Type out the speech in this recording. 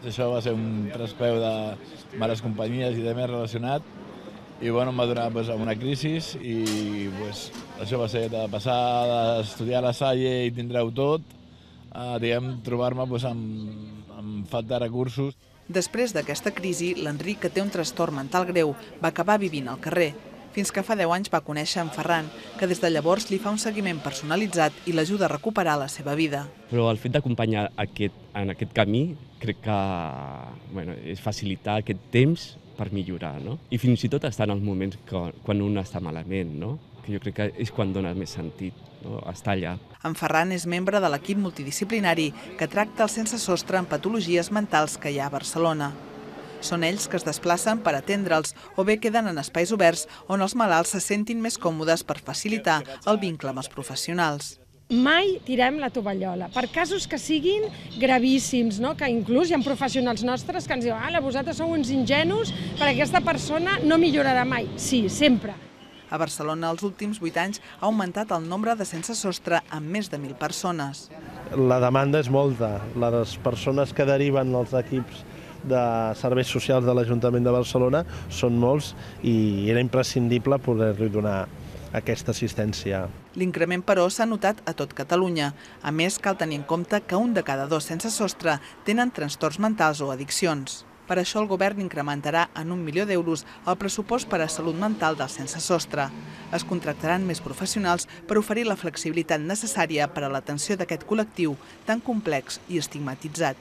Això va ser un traspeu de males companyies i de més relacionat. I bueno, em va donar una crisi i això va ser de passar d'estudiar a la Salle i tindreu tot, a trobar-me amb falta de recursos. Després d'aquesta crisi, l'Enric, que té un trastorn mental greu, va acabar vivint al carrer, fins que fa 10 anys va conèixer en Ferran, que des de llavors li fa un seguiment personalitzat i l'ajuda a recuperar la seva vida. Però el fet d'acompanyar en aquest camí crec que és facilitar aquest temps per millorar, no? I fins i tot estar en els moments quan un està malament, no? Que jo crec que és quan dona més sentit, no? Estar allà. En Ferran és membre de l'equip multidisciplinari que tracta els sense sostre en patologies mentals que hi ha a Barcelona. Són ells que es desplacen per atendre'ls o bé queden en espais oberts on els malalts se sentin més còmodes per facilitar el vincle amb els professionals. Mai tirem la tovallola, per casos que siguin gravíssims, no? Que inclús hi ha professionals nostres que ens diuen vosaltres sou uns ingenus perquè aquesta persona no millorarà mai. Sí, sempre. A Barcelona, els últims 8 anys, ha augmentat el nombre de sense sostre amb més de 1.000 persones. La demanda és molta. Les persones que deriven als equips de serveis socials de l'Ajuntament de Barcelona són molts i era imprescindible poder-li donar aquesta assistència. L'increment, però, s'ha notat a tot Catalunya. A més, cal tenir en compte que 1 de cada 2 sense sostre tenen trastorns mentals o addiccions. Per això el govern incrementarà en 1 milió d'euros el pressupost per a salut mental dels sense sostre. Es contractaran més professionals per oferir la flexibilitat necessària per a l'atenció d'aquest col·lectiu tan complex i estigmatitzat.